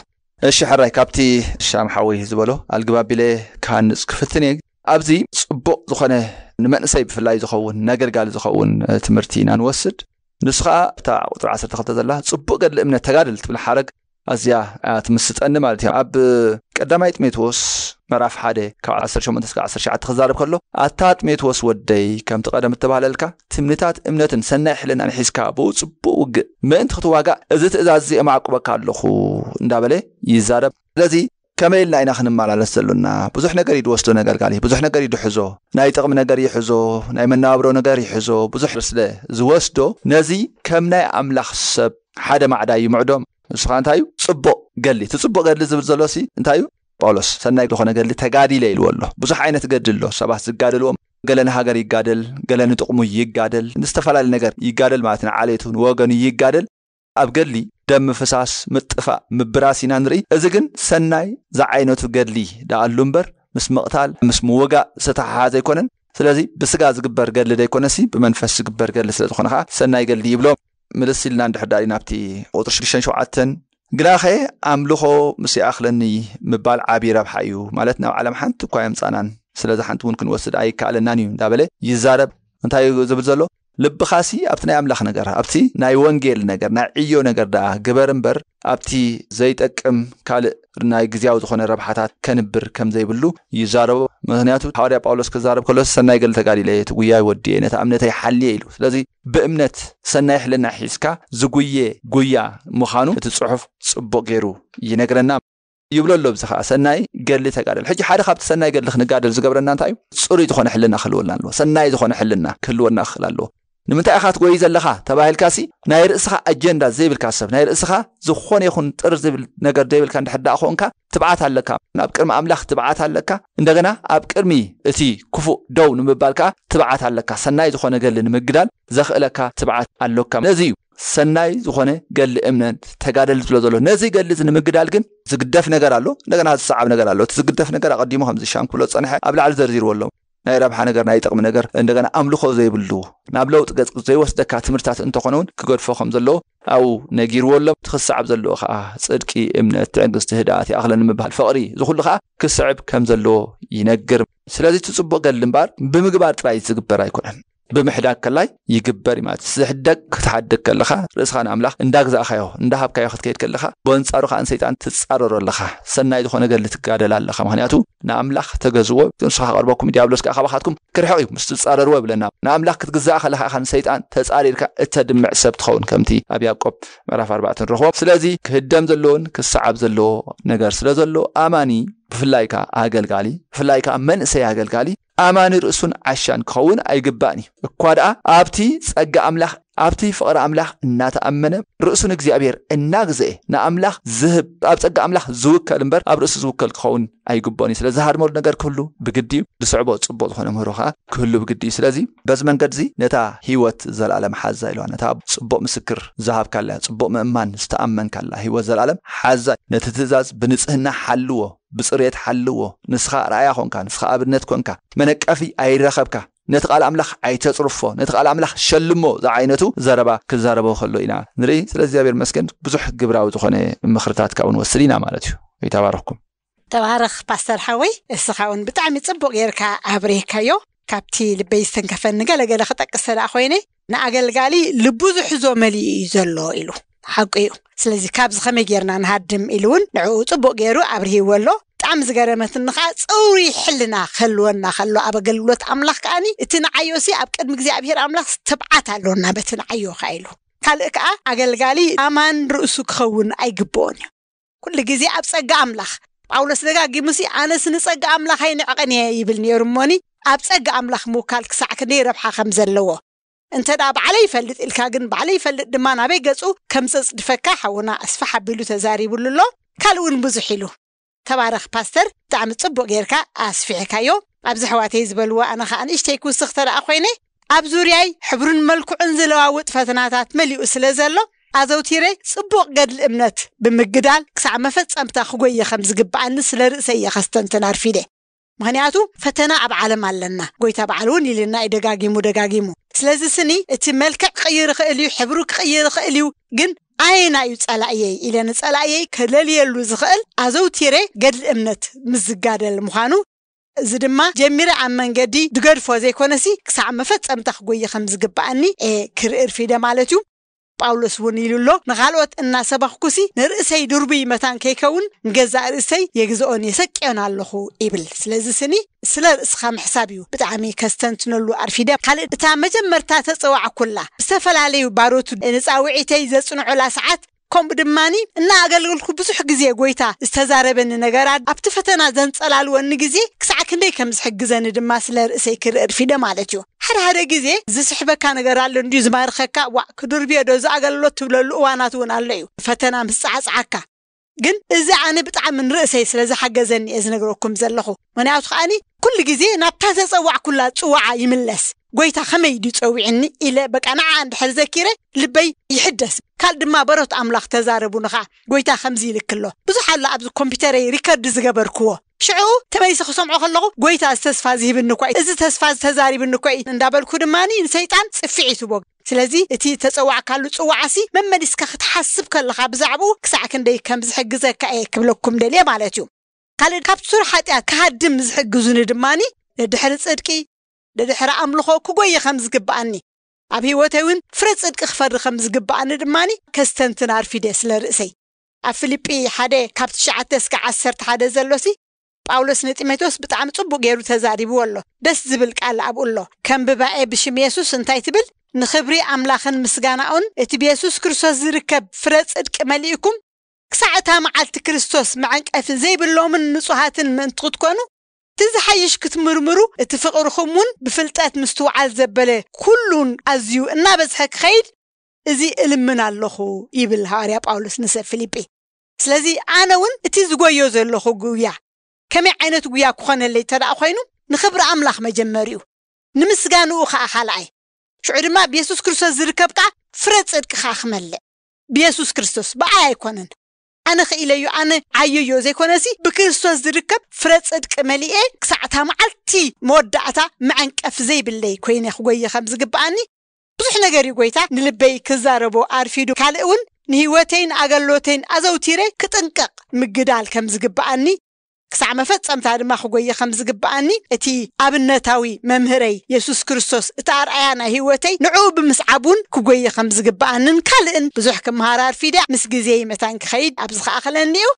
እሺ ሕራይ፣ ካብቲ ሻም ሓወይ ዝበሎ ኣልግብ ኣቢለ ክሃንጽ ክፍትን እየ። ኣብዚ ጽቡቕ ዝኾነ ንመንእሰይ ብፍላይ ዝኸውን፣ ነገልጋሊ ዝኸውን ትምህርቲ ኢና ንወስድ። ንሱ ኸኣ ኣብታ ቁጽሪ ዓሰርተ ክልተ ዘላ ጽቡቕ ገድሊ እምነት ተጋድል ትብል ሓረግ ኣዝያ እያ ትምስጠኒ ማለት እዩ። ኣብ ቀዳማይ ጢሞቴዎስ ምዕራፍ ሓደ ካብ ዓሰርተ ሸሞንተ እስከ ዓሰርተ ትሽዓተ ክዛረብ ከሎ፣ ኣታ ጢሞቴዎስ ወደይ፣ ከምቲ ቀደም እተባህለልካ ትምኒታት እምነትን ሰናይ ሕልናን ሒዝካ ብኡ ጽቡቕ ውግእ ምእንቲ ክትዋጋእ እዚ ትእዛዝ እዚ እማዕቁበካ ኣለኹ እንዳበለ ይዛረብ። ስለዚ ከመይ ኢልና ኢና ክንመላለስ ዘሎና? ብዙሕ ነገር እዩ ዝወስዶ ነገልጋሊ፣ ብዙሕ ነገር እዩ ዝሕዞ። ናይ ጥቕሚ ነገር ይሕዞ፣ ናይ መነባብሮ ነገር ይሕዞ፣ ብዙሕ ስለ ዝወስዶ ነዚ ከም ናይ ኣምላኽ ሰብ ሓደ ማዕዳ ይምዕዶ። ንሱ ኸኣ እንታይ እዩ? ጽቡቕ ገድሊ። እቲ ጽቡቕ ገድሊ ዝብል ዘሎ ሲ እንታይ እዩ? ጳውሎስ ሰናይ ዝኾነ ገድሊ ተጋዲለ ኢልዎ ኣሎ። ብዙሕ ዓይነት ገድሊ ኣሎ። ሰባት ዝጋደልዎም፣ ገለ ንሃገር ይጋደል፣ ገለ ንጥቕሙ ይጋደል፣ ንዝተፈላለየ ነገር ይጋደል ማለት ንዓሌቱ ንወገኑ ይጋደል። ኣብ ገድሊ ደም ምፍሳስ፣ ምጥፋእ፣ ምብራስ ኢና ንርኢ። እዚ ግን ሰናይ ዝዓይነቱ ገድሊ ደኣ ኣሉ እምበር ምስ ምቕታል ምስ ምውጋእ ዝተተሓሓዘ ኣይኮነን። ስለዚ ብስጋ ዝግበር ገድሊ ደይኮነሲ ብመንፈስ ዝግበር ገድሊ ስለ ዝኾነ ኸዓ ሰናይ ገድሊ ይብሎ። ምልስ ኢልና እንድሕር ዳኣ ናብቲ ቁፅሪ ሽዱሽተን ሸውዓተን፣ ግናኸ ኣምልኾ ምስ ይኣኽለኒ ምባል ዓብዪ ረብሓ እዩ፣ ማለት ናብ ዓለም ሓንቲ እኳ የምፃናን፣ ስለዚ ሓንቲ እውን ክንወስድ ኣይከኣለናን እዩ እንዳበለ ይዛረብ። እንታይ እዩ ዝብል ዘሎ? ልብኻሲ ኣብቲ ናይ ኣምላኽ ነገር፣ ኣብቲ ናይ ወንጌል ነገር፣ ናይ ዕዮ ነገር ደኣ ግበር እምበር ኣብቲ ዘይጠቅም ካልእ ናይ ግዜያዊ ዝኾነ ረብሓታት ከንብር ከም ዘይብሉ ይዛረቦ። ምኽንያቱ ሃዋርያ ጳውሎስ ክዛረብ ከሎ ሰናይ ገድሊ ተጋዲለ፣ እቲ ጉያይ ወዲየ፣ ነታ እምነተይ ሓልየ ኢሉ። ስለዚ ብእምነት ሰናይ ሕልና ሒዝካ ዝጉየ ጉያ ምዃኑ እቲ ጽሑፍ ጽቡቕ ገይሩ ይነግረና ይብሎ ኣሎ። ብዚ ኸዓ ሰናይ ገድሊ ተጋደል። ሕጂ ሓደ ካብቲ ሰናይ ገድሊ ክንጋደል ዝገብረና እንታይ እዩ? ጽሩይ ዝኾነ ሕልና ክህልወና ኣለዎ። ሰናይ ዝኾነ ሕልና ክህልወና ክኽእል ኣለዎ። ንምንታይ ኢኻ ትጎይ ዘለኻ ተባሂልካሲ ናይ ርእስኻ ኣጀንዳ ዘይብልካ ሰብ፣ ናይ ርእስኻ ዝኾነ ይኹን ጥር ዝብል ነገር ዘይብልካ እንድሕር ደኣ ኾንካ ትብዓት ኣለካ። ናብ ቅድሚ ኣምላኽ ትብዓት ኣለካ። እንደገና ኣብ ቅድሚ እቲ ክፉእ ደው ንምባል ከኣ ትብዓት ኣለካ። ሰናይ ዝኾነ ገድሊ ንምግዳል ዘኽእለካ ትብዓት ኣሎካ። ነዚ እዩ ሰናይ ዝኾነ ገድሊ እምነት ተጋደል ዝብሎ ዘሎ። ነዚ ገድሊ እዚ ንምግዳል ግን ዝግደፍ ነገር ኣሎ፣ እንደገና ዝሰዓብ ነገር ኣሎ። እቲ ዝግደፍ ነገር ኣቐዲሙ ከምዚ ሻም ክብሎ ዝጸንሐ ኣብ ላዕሊ ዘርዚርዎ ኣሎ። ናይ ረብሓ ነገር፣ ናይ ጥቕሚ ነገር፣ እንደገና ኣምልኾ ዘይብሉ፣ ናብ ለውጢ ገጽ ዘይወስደካ ትምህርትታት እንተኾነ እውን ክገድፎ ከም ዘለዎ ኣብኡ ነጊርዎ ኣሎ። እቲ ክሰዓብ ዘለዎ ከኣ ጽድቂ፣ እምነት፣ ትዕግስቲ፣ ህድኣት ይኣኽለኒ ምባል፣ ፍቕሪ፣ እዚ ኩሉ ከኣ ክስዕብ ከም ዘለዎ ይነግር። ስለዚ እቲ ጽቡቕ ገድሊ እምበኣር ብምግባር ጥራይ ዝግበር ኣይኮነን። ብምሕዳግ ከላይ ይግበር እዩ ማለት እዩ። ዝሕደግ ክትሓድግ ከለኻ ርእስኻ ንኣምላኽ እንዳግዛእካዮ እንዳሃብካዮ ክትከይድ ከለኻ ብኣንጻሩ ከኣ ንሰይጣን ትጻረሮ ኣለኻ። ሰናይ ዝኾነ ገድሊ ትጋደል ኣለኻ። ምኽንያቱ ንኣምላኽ ተገዝዎ፣ ንሱ ከቐርበኩም ዲያብሎስ ከኣ ካባኻትኩም ክርሕቕ እዩ ምስ ትጻረርዎ ይብለና። ንኣምላኽ ክትግዛእ ከለኻ ኢኻ ንሰይጣን ተጻሪርካ እተድምዕ ሰብ ትኸውን። ከምቲ ኣብ ያዕቆብ ምዕራፍ ኣርባዕተ ንረኽቦ። ስለዚ ክህደም ዘለዎን ክሰዓብ ዘለዎ ነገር ስለ ዘሎ ኣማኒ ብፍላይ ከኣ ኣገልጋሊ፣ ብፍላይ ከኣ መንእሰይ ኣገልጋሊ ኣማኒ ርእሱን ዓሻን ክኸውን ኣይግባእን እዩ። እኳ ደኣ ኣብቲ ጸጋ ኣምላኽ ኣብቲ ፍቕሪ ኣምላኽ እናተኣመነ፣ ርእሱ ንእግዚኣብሔር እናግዝኤ፣ ንኣምላኽ ዝህብ፣ ኣብ ጸጋ ኣምላኽ ዝውከል እምበር ኣብ ርእሱ ዝውከል ክኸውን ኣይግብኦን እዩ። ስለዚ ዝሃድመሉ ነገር ክህሉ ብግዲ እዩ። ዝስዕቦ ጽቡቕ ዝኾነ ምህሮ ከኣ ክህሉ ብግዲ እዩ። ስለዚ በዚ መንገዲ እዚ ነታ ህይወት ዘለኣለም ሓዛ ኢልዋ። ነታ ጽቡቕ ምስክር ዝሃብካላ፣ ጽቡቕ ምእማን ዝተኣመንካላ ህይወት ዘለኣለም ሓዛ። ነቲ ትእዛዝ ብንጽህና ሓልዎ፣ ብጽሬት ሓልዎ። ንስኻ ርኣያ ኮንካ፣ ንስኻ ኣብነት ኮንካ፣ መነቀፊ ኣይረኸብካ። ነቲ ቃል ኣምላኽ ኣይተጽርፎ፣ ነቲ ቃል ኣምላኽ ሸልሞ ዝዓይነቱ ዘረባ ክዛረቦ ከሎ ኢና ንርኢ። ስለ እግዚኣብሔር መስገን ብዙሕ ግብራዊ ዝኾነ ምኽርታት ካብኡ ንወስድ ኢና ማለት እዩ። ይተባረኽኩም። ተባረኽ ፓስተር ሓወይ፣ እስኻ እውን ብጣዕሚ ጽቡቕ ጌርካ ኣብሬካዮ። ካብቲ ልበይ ዝተንከፈኒ ገለገለ ክጠቅስ ተደኣ ኮይነ፣ ንኣገልጋሊ ልቡ ዝሕዞ መሊኡ እዩ ዘሎ ኢሉ። ሓቁ እዩ። ስለዚ ካብዚ ከመይ ጌርና ንሃድም ኢሉ እውን ንዕኡ ጽቡቕ ጌሩ ኣብርሂዎ ኣሎ። ብጣዕሚ ዝገረመትኒ ከዓ ጽሩይ ሕልና ክህልወና ከሎ ኣብ ኣገልግሎት ኣምላኽ ከኣኒ እቲ ንዓዮሲ ኣብ ቅድሚ እግዚኣብሔር ኣምላኽ ትብዓት ኣሎና በቲ ንዓዮ ከዓ ኢሉ። ካልእ ከዓ ኣገልጋሊ ኣማን ርእሱ ክኸውን ኣይግብኦን እዩ። ኩሉ ግዜ ኣብ ጸጋ ኣምላኽ። ጳውሎስ ደጋጊሙሲ ኣነስ ንጸጋ ኣምላኽ ኣይንዕቐን እየ ይብል ነይሩ እሞኒ ኣብ ጸጋ ኣምላኽ ምውካል ክሳዕ ክንደይ ረብሓ ከም ዘለዎ እንተ ደኣ ባዕለይ ይፈልጥ ኢልካ ግን ባዕለይ ይፈልጥ ድማ ናበይ ገጹ ከም ዘጽድፈካ ሓውና ኣስፋሕ ኣቢሉ ተዛሪቡሉ ኣሎ። ካልእ እውን ብዙሕ ኢሉ። ተባረኽ ፓስተር፣ ብጣዕሚ ጽቡቕ ጌርካ ኣስፊሕካዮ። ኣብዚ ኣሕዋተይ ዝበልዎ ኣነ ኸኣ ንእሽተይ ክውስኽ ተደኣ ኮይነ፣ ኣብ ዙርያይ ሕብሩን መልክዑን ዝለዋውጥ ፈተናታት መሊኡ ስለ ዘሎ፣ ኣዘውቲረ ጽቡቕ ገድሊ እምነት ብምግዳል ክሳዕ መፈጸምታ ክጎየ ከም ዝግብኣኒ ስለ ርእሰይ እየ ከስተንትን ኣርፊደ። ምኽንያቱ ፈተና ኣብ ዓለም ኣለና። ጎይታ በዓል እውን ኢልና እዩ ደጋጊሙ ደጋጊሙ። ስለዚ ስኒ እቲ መልክዕ ክቕይር ይኽእል እዩ፣ ሕብሩ ክቕይር ይኽእል እዩ፣ ግን ኣየና እዩ ጸላእየይ ኢለ ንጸላእየይ ከለልየሉ ዝኽእል ኣዘውቲረ ገድሊ እምነት ምስ ዝጋደል ምዃኑ፣ እዚ ድማ ጀሚረ ኣብ መንገዲ ድገድፎ ዘይኮነሲ ክሳዕ መፈጸምታ ክጎየ ከም ዝግብኣኒ እየ ክርኢ ርፊደ ማለት እዩ። ጳውሎስ እውን ኢሉ ኣሎ፣ ንኻልኦት እናሰበኽኩሲ ንርእሰይ ድርቡይ መታን ከይከውን ንገዛእ ርእሰይ የግዝኦን የሰቅዮን ኣለኹ ይብል። ስለዚ ስኒ ስለ ርእስኻ ምሕሳብ እዩ ብጣዕሚ ከስተንትነሉ ኣርፊደ። ካልእ እታ መጀመርታ ተጸዋዕኩላ ዝተፈላለዩ ባሮቱ ንጻውዒተይ ዘጽንዑላ ሰዓት ከምኡ ድማኒ እናኣገልገልኩ ብዙሕ ግዜ ጎይታ ዝተዛረበኒ ነገራት ኣብቲ ፈተና ዘንጸላልወኒ ግዜ ክሳዕ ክንደይ ከም ዝሕግዘኒ ድማ ስለ ርእሰይ ክርኢ ርፊደ ማለት እዩ። ሓደ ሓደ ግዜ ዝስሕበካ ነገር ኣሎ እንድዩ ዝማርኸካ፣ ዋእ ክድርብዮ ዶ እዚ ኣገልግሎት ትብለሉ እዋናት እውን ኣሎ እዩ። ፈተና ምስ ጻዕጻዓካ ግን እዚ ኣነ ብጣዕሚ ንርእሰይ ስለ ዝሓገዘኒ እየ ዝነግረኩም ዘለኹ። ምኽንያቱ ከኣኒ ኩሉ ግዜ ናብታ ተጸዋዕኩላ ጽዋዓ ይምለስ። ጎይታ ከመይ ድዩ ጸዊዕኒ ኢለ በቃ ንዓ እንድሕር ዘኪረ ልበይ ይሕደስ። ካል ድማ በሮት ኣምላኽ ተዛረቡኒ ኸዓ ጎይታ ከምዚ ይልክ ኣሎ። ብዙሕ ኣሎ ኣብዚ ኮምፒውተረይ ሪከርድ ዝገበርክዎ። ሽዑ ተመሊሰ ክሰምዖ ከለኹ ጎይታ እዚ ተስፋ ዝህብኒ እኳ እዩ፣ እዚ ተስፋ ዝተዛሪብኒ እኳ እዩ እንዳበልኩ ድማኒ ንሰይጣን ጽፍዒ ትቦ። ስለዚ እቲ ተጸዋዕካሉ ጽዋዓሲ መመሊስካ ክትሓስብ ከለኻ ብዛዕባኡ ክሳዕ ክንደይ ከም ዝሕግዘካ እየ ክብለኩም ደልየ ማለት እዩ። ካልእ ካብ ሱር ሓጢኣት ክሃድም ዝሕግዙኒ ድማኒ ንድሕሪ ጽድቂ፣ ንድሕሪ ኣምልኾ ክጎየ ከም ዝግብኣኒ፣ ኣብ ህይወተይ እውን ፍረ ጽድቂ ክፈሪ ከም ዝግብኣኒ ድማኒ ከስተንትን ኣርፊደ ስለ ርእሰይ። ኣብ ፊልጲ ሓደ ካብ ትሽዓተ እስከ ዓሰርተ ሓደ ዘሎሲ ጳውሎስ ንጢሞቴዎስ ብጣዕሚ ጽቡቕ ገይሩ ተዛሪብዎ ኣሎ። ደስ ዝብል ቃል ኣብኡ ኣሎ። ከም ብባኤ ብሽም የሱስ እንታይ ትብል? ንኽብሪ ኣምላኽን ምስጋናኡን እቲ ብየሱስ ክርስቶስ ዝርከብ ፍረ ጽድቂ መሊእኩም ክሳዕ እታ መዓልቲ ክርስቶስ መዐንቀፊ ዘይብሎምን ንጹሃትን ምእንቲ ክትኮኑ እቲ ዝሓይሽ ክትምርምሩ እቲ ፍቕርኹም እውን ብፍልጠት ምስትውዓል ዘበለ ኩሉን ኣዝዩ እናበዝሐ ክኸይድ እዚ እልምን ኣለኹ ይብል ሃዋርያ ጳውሎስ ንሰብ ፊልጲ። ስለዚ ኣነ እውን እቲ ዝጎዮ ዘለኹ ጉያ ከመይ ዓይነት ጉያ ክኾነለይ እንተ ደኣ ኮይኑ ንኽብሪ ኣምላኽ መጀመሪኡ ንምስጋንኡ ኸዓ ካልኣይ ሽዑ ድማ ብየሱስ ክርስቶስ ዝርከብ ከዓ ፍረ ጽድቂ ከዓ ክመልእ ብየሱስ ክርስቶስ ብኣይ ኣይኮነን ኣነ ክኢለዮ ኣነ ዓየዮ ዘይኮነሲ ብክርስቶስ ዝርከብ ፍረ ጽድቂ መሊኤ ክሳዕታ መዓልቲ መወዳእታ መዐንቀፍ ዘይብለይ ኮይነ ክጎየ ከም ዝግብኣኒ ብዙሕ ነገር እዩ ጎይታ ንልበይ ክዛረቦ ኣርፊዱ ካልእ እውን ንህይወተይን ኣገልሎተይን ኣዘውቲረ ክጥንቀቕ ምግዳል ከም ዝግብኣኒ ክሳዕ መፈጸምታ ድማ ክጎየ ከም ዝግብኣኒ እቲ ኣብነታዊ መምህረይ የሱስ ክርስቶስ እቲ ኣርኣያ ናይ ህይወተይ ንዕኡ ብምስዓብ እውን ክጎየ ከም ዝግብኣንን ካልእን ብዙሕ ክመሃር ኣርፊደ ምስ ግዜይ መታን ክኸይድ ኣብዚ ከኣኸለኒ እዩ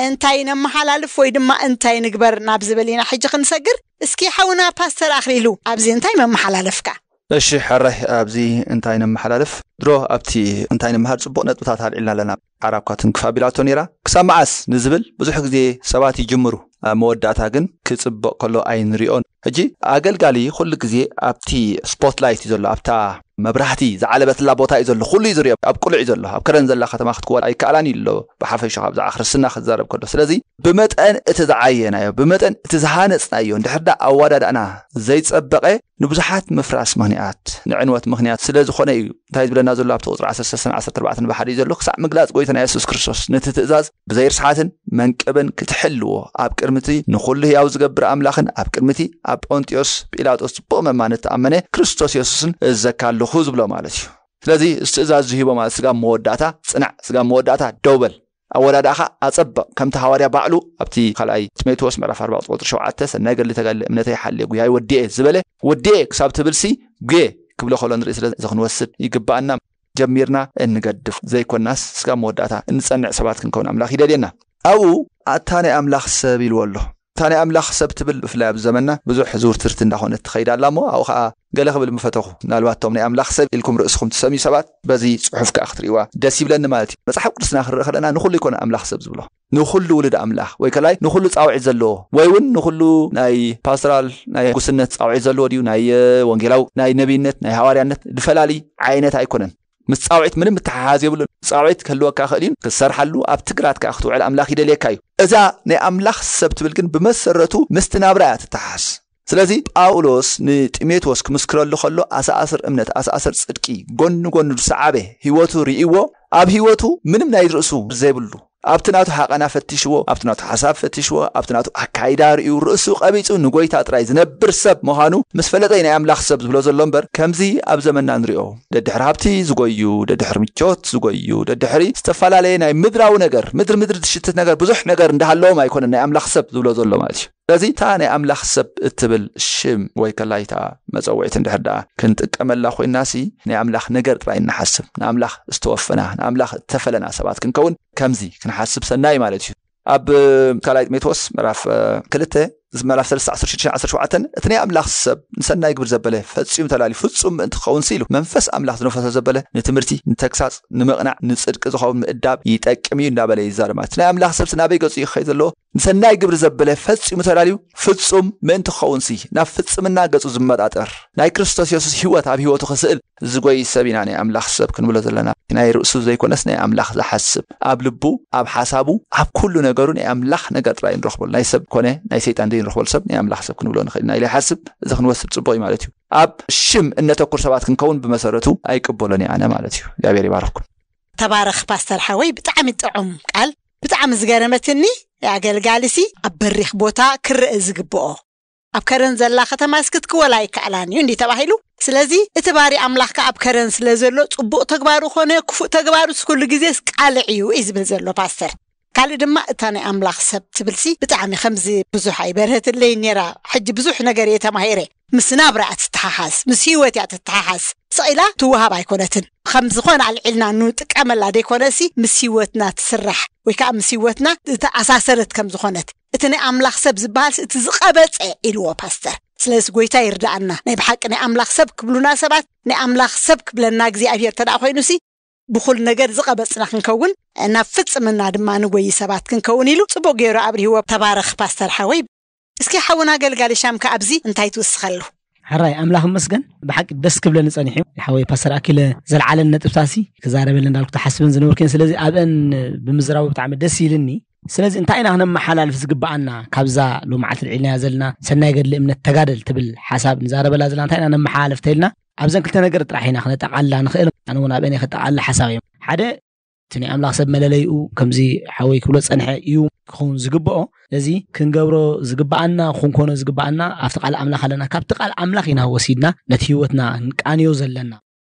እንታይ ነመሓላልፍ ወይ ድማ እንታይ ንግበር ናብ ዝብል ኢና ሕጂ ክንሰግር እስኪ ሓውና ፓስተር ኣኽሊሉ ኣብዚ እንታይ መመሓላለፍካ እሺ ሕራይ ኣብዚ እንታይ ነመሓላልፍ ድሮ ኣብቲ እንታይ ንምሃር ፅቡቕ ነጥብታት ኣልዒልና ኣለና ዓራኳ ትንክፍ ኣቢላቶ ነይራ ክሳብ መዓስ ንዝብል ብዙሕ ግዜ ሰባት ይጅምሩ ኣብ መወዳእታ ግን ክጽበቕ ከሎ ኣይንሪኦን። ሕጂ ኣገልጋሊ ኩሉ ግዜ ኣብቲ ስፖትላይት እዩ ዘሎ፣ ኣብታ መብራህቲ ዝዓለበትላ ቦታ እዩ ዘሎ፣ ኩሉ እዩ ዝሪኦ። ኣብ ቅሉዕ እዩ ዘሎ፣ ኣብ ከረን ዘላ ከተማ ክትክወል ኣይከኣላን እዩ ኣሎ፣ ብሓፈሻ ካብ ብዛዕባ ክርስትና ክዛረብ ከሎ። ስለዚ ብመጠን እቲ ዝዓየናዮ፣ ብመጠን እቲ ዝሃነጽናዮ እንድሕር ዳ ኣወዳድኣና ዘይጸበቐ፣ ንብዙሓት ምፍራስ ምኽንያት፣ ንዕንወት ምኽንያት ስለ ዝኾነ እዩ። እንታይ ዝብለና ዘሎ ኣብቲ ቁጽሪ ዓሰርተ ሰለስተ ዓሰርተ ኣርባዕተ ብሓደ እዩ ዘሎ፣ ክሳዕ ምግላጽ ጎይታና የሱስ ክርስቶስ ነቲ ትእዛዝ ብዘይርስሓትን መንቅብን ክትሕልዎ፣ ኣብ ቅድሚቲ ንኹሉ ህያው ዝገብር ኣምላኽን ኣብ ቅድሚቲ ኣብ ጶንጢዮስ ጲላጦስ ጽቡቕ መማን እተኣመነ ክርስቶስ የሱስን እዘካ ኣለኹ ዝብሎ ማለት እዩ። ስለዚ እዚ ትእዛዝ ዝሂቦ ማለት ስጋብ መወዳእታ ጽናዕ፣ ስጋብ መወዳእታ ደው በል፣ ኣወዳድኣኻ ኣጸብቕ። ከምቲ ሃዋርያ ባዕሉ ኣብቲ ካልኣይ ጢሞቴዎስ ምዕራፍ ኣርባዕተ ቁጽሪ ሸውዓተ፣ "ሰናይ ገድሊ ተጋድለ፣ እምነተይ ሓልየ፣ ጉያይ ወዲኤ" ዝበለ፣ "ወዲኤ" ክሳብ ትብልሲ፣ "ጉየ" ክብሎ ከሎ ንርኢ። ስለዚ እዚ ክንወስድ ይግብኣና። ጀሚርና እንገድፍ ዘይኮናስ፣ ስጋብ መወዳእታ እንጸንዕ ሰባት ክንከውን ኣምላኽ ይደልየና። ኣብኡ ኣታ ናይ ኣምላኽ ሰብ ኢልዎ ኣሎ። እታ ናይ ኣምላኽ ሰብ ትብል ብፍላይ ኣብ ዘመንና ብዙሕ ዝውርትርቲ እንዳኾነት ትኸይድ ኣላ እሞ፣ ኣብኡ ኸኣ ገለ ክብል ምፈተኹ። ምናልባት እቶም ናይ ኣምላኽ ሰብ ኢልኩም ርእስኹም ትሰምዩ ሰባት በዚ ጽሑፍ ከኣ ክትርእይዋ ደስ ይብለኒ ማለት እዩ። መጽሓፍ ቅዱስና ክንርኢ ከለና ንኹሉ ይኮነ ኣምላኽ ሰብ ዝብሎ። ንኹሉ ውሉድ ኣምላኽ ወይ ከላይ ንኹሉ ጻውዒት ዘለዎ ወይ እውን ንኹሉ ናይ ፓስተራል ናይ ጉስነት ጻውዒት ዘለዎ ድዩ፣ ናይ ወንጌላዊ፣ ናይ ነቢይነት፣ ናይ ሃዋርያነት ዝፈላሊ ዓይነት ኣይኮነን። ምስ ጻውዒት ምንም ምትሓሓዝ የብሉን። ጻውዒት ክህልወካ ክእል እዩ፣ ክትሰርሓሉ ኣብቲ ግራት ከኣ ክትውዕል ኣምላኽ ይደልየካ እዩ። እዛ ናይ ኣምላኽ ሰብ ትብል ግን ብመሰረቱ ምስቲ ናብራ እያ ትተሓሓዝ። ስለዚ ጳውሎስ ንጢሞቴዎስ ክምስክረሉ ከሎ ኣሰኣስር እምነት፣ ኣሰኣስር ጽድቂ፣ ጎኒ ጎኒ ዝሰዓበ ህይወቱ ርእይዎ፣ ኣብ ህይወቱ ምንም ናይ ርእሱ ዘይብሉ፣ ኣብቲ ናቱ ሓቐና ፈቲሽዎ፣ ኣብቲ ናቱ ሓሳብ ፈቲሽዎ፣ ኣብቲ ናቱ ኣካይዳ ርእዩ ርእሱ ቀቢጹ ንጎይታ ጥራይ ዝነብር ሰብ ምዃኑ ምስ ፈለጠ ናይ ኣምላኽ ሰብ ዝብሎ ዘሎ እምበር፣ ከምዚ ኣብ ዘመንና ንሪኦ ደድሕሪ ሃብቲ ዝጎዩ፣ ደድሕሪ ምቾት ዝጎዩ፣ ደድሕሪ ዝተፈላለየ ናይ ምድራዊ ነገር፣ ምድሪ ምድሪ ትሽትት ነገር፣ ብዙሕ ነገር እንዳሃለዎም ኣይኮነን ናይ ኣምላኽ ሰብ ዝብሎ ዘሎ ማለት እዩ። ስለዚ እታ ናይ ኣምላኽ ሰብ እትብል ሽም ወይ ከላይታ መጸውዒት እንድሕር ደኣ ክንጥቀመላ ኮይናሲ፣ ናይ ኣምላኽ ነገር ጥራይ እንሓስብ፣ ንኣምላኽ ዝተወፈና፣ ንኣምላኽ እተፈለና ሰባት ክንከውን ከምዚ ክንሓስብ ሰናይ ማለት እዩ። ኣብ ካልኣይ ጢሞቴዎስ ምዕራፍ ክልተ፣ ምዕራፍ ሰለስተ ዓሰርተ ሽዱሽተ ዓሰርተ ሸውዓተ፣ እቲ ናይ ኣምላኽ ሰብ ንሰናይ ግብሪ ዘበለ ፈጺሙ ተላልዩ ፍጹም ምእንቲ ክኸውን ኢሉ መንፈስ ኣምላኽ ዝነፈሶ ዘበለ ንትምህርቲ፣ ንተግሳጽ፣ ንምቕናዕ፣ ንጽድቂ ዝኸውን ምእዳብ ይጠቅም እዩ እንዳበለ ይዛረብ። ማለት ናይ ኣምላኽ ሰብሲ ናበይ ገጹ እዩ ክኸይድ ዘለዎ? ንሰናይ ግብሪ ዘበለ ፈጺሙ ተላልዩ ፍጹም ምእንቲ ክኸውንሲ፣ ናብ ፍጽምና ገጹ ዝመጣጠር፣ ናይ ክርስቶስ የሱስ ህይወት ኣብ ህይወቱ ክስእል ዝጎይ ሰብ ኢና ናይ ኣምላኽ ሰብ ክንብሎ ዘለና። ናይ ርእሱ ዘይኮነስ ናይ ኣምላኽ ዝሓስብ፣ ኣብ ልቡ፣ ኣብ ሓሳቡ፣ ኣብ ኩሉ ነገሩ ናይ ኣምላኽ ነገር ጥራይ ንረኽበሉ። ናይ ሰብ ኮነ ናይ ሰይጣን ዘይንረኽበሉ ሰብ ናይ ኣምላኽ ሰብ ክንብሎ ንኽእል ኢና ኢለ ይሓስብ። እዚ ክንወስድ ጽቡቕ እዩ ማለት እዩ። ኣብ ሽም እነተኩር ሰባት ክንከውን ብመሰረቱ ኣይቅበሎን እየ ኣነ ማለት እዩ። እግዚኣብሔር ይባርኽኩም። ተባረኽ ፓስተር ሓወይ፣ ብጣዕሚ ጥዑም ቃል። ብጣዕሚ ዝገረመትኒ ኣገልጋሊሲ ኣብ በሪኽ ቦታ ክረአ ዝግብኦ፣ ኣብ ከረን ዘላ ከተማስ ክትክወል ኣይከኣላን እዩ እንዲ ተባሂሉ። ስለዚ እቲ ባሪ ኣምላኽ ከኣ ኣብ ከረን ስለ ዘሎ ጽቡቕ ተግባሩ ኮነ ክፉእ ተግባሩስ ኩሉ ግዜስ ቃልዕ እዩ እዩ ዝብል ዘሎ ፓስተር። ካልእ ድማ እታ ናይ ኣምላኽ ሰብ ትብልሲ ብጣዕሚ ከምዚ ብዙሕ ኣይበርሀትለይ ነይራ። ሕጂ ብዙሕ ነገር እየ ተማሂረ። ምስ ናብራ እያ ትተሓሓዝ፣ ምስ ህይወት እያ ትተሓሓዝ። ስቕ ኢላ ትወሃብ ኣይኮነትን። ከም ዝኾነ ኣልዒልና ንጥቀመላ ደይኮነሲ ምስ ህይወትና ትስራሕ ወይ ከዓ ምስ ህይወትና ዝተኣሳሰረት ከም ዝኾነት፣ እቲ ናይ ኣምላኽ ሰብ ዝበሃልሲ እቲ ዝቐበጸ ኢልዎ ፓስተር። ስለዚ ጎይታ ይርዳኣና። ናይ ብሓቂ ናይ ኣምላኽ ሰብ ክብሉና ሰባት፣ ናይ ኣምላኽ ሰብ ክብለና እግዚኣብሔር ተደኣ ኮይኑሲ ብኹል ነገር ዝቐበጽና ክንከውን፣ ናብ ፍጽምና ድማ ንጎይ ሰባት ክንከውን ኢሉ ጽቡቕ ገይሩ ኣብሪህዎ። ተባረኽ ፓስተር ሓወይ። እስኪ ሓውና ኣገልጋሊ ሻምካ ኣብዚ እንታይ ትውስኸሉ? ሕራይ ኣምላኽ መስገን። ብሓቂ ደስ ክብለኒ ጸኒሑ። ሓወይ ፓስተር ኣኪለ ዘልዓለን ነጥብታሲ ክዛረበለን እንዳልኩ ተሓስበን ዝነበርኩ እየን። ስለዚ ኣብአን ብምዝራቡ ብጣዕሚ ደስ ኢልኒ። ስለዚ እንታይ ኢና ክነመሓላልፍ ዝግብኣና ካብዛ ሎማዓልቲ ልዒልናያ ዘለና ሰናይ ገድሊ እምነት ተጋደል ትብል ሓሳብ ንዛረበላ ዘለና እንታይ ኢና ነመሓላልፍ ተይልና ኣብዘን ክልተ ነገር ጥራሕ ኢና ክነጠቓልላ ንኽእል። ኣነ እውን ኣብአን እየ ከጠቓልላ ሓሳብ እዮም። ሓደ እቲ ናይ ኣምላኽ ሰብ መለለይኡ ከምዚ ሓወይ ክብሎ ጸንሐ እዩ ክኸውን ዝግብኦ። ስለዚ ክንገብሮ ዝግብኣና፣ ክንኮኖ ዝግብኣና ኣብቲ ቃል ኣምላኽ ኣለና። ካብቲ ቃል ኣምላኽ ኢና ወሲድና ነቲ ህይወትና ንቃንዮ ዘለና።